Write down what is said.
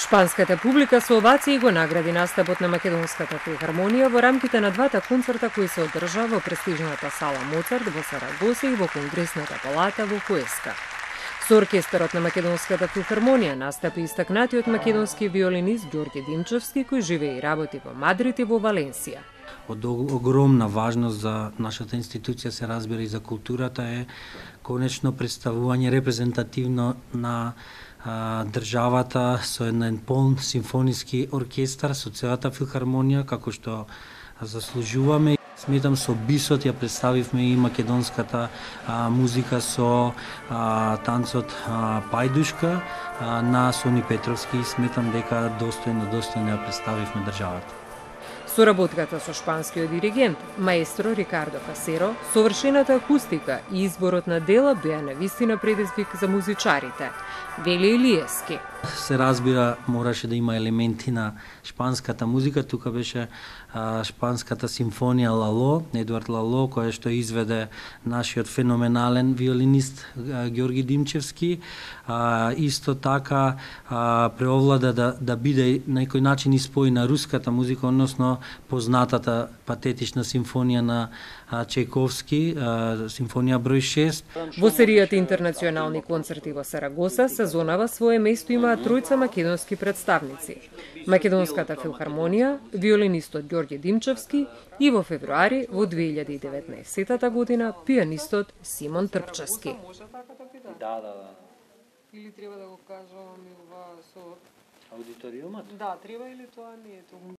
Шпанската публика со овации го награди настапот на Македонската филхармонија во рамките на двата концерта кои се одржаа во престижната сала Моцарт во Сарагоса и во Конгресната палата во Хуеска. Со оркестарот на Македонската филхармонија настапи истакнатиот македонски виолинист Ѓорѓе Димчевски, кој живее и работи во Мадрид и во Валенсија. Од огромна важност за нашата институција, се разбира и за културата, е конечно представување репрезентативно на државата со еден полн симфониски оркестар, со целата филхармонија, како што заслужуваме. Сметам со бисот ја представивме и македонската музика со танцот Пајдушка на Сони Петровски. Сметам дека достојно ја представивме државата. Соработката со шпанскиот диригент, маестро Рикардо Касеро, совршената акустика и изборот на дела беа навистина предизвик за музичарите, вели Илиевски. Се разбира, мораше да има елементи на шпанската музика. Тука беше шпанската симфонија Лало, Едуард Лало, која што изведе нашиот феноменален виолинист Ѓорги Димчевски. Исто така преовлада да биде на некој начин испојна руската музика, односно познатата патетична симфонија на Чајковски, симфонија број 6. Во серијата интернационални концерти во Сарагоса, сезонава свое место имаат тројца македонски представници. Македонската филхармонија, виолинистот Ѓорѓе Димчевски и во февруари во 2019 година пианистот Симон Трпчевски. Да. Или треба да го кажам со аудиториумот? Да, треба или тоа не е тоа.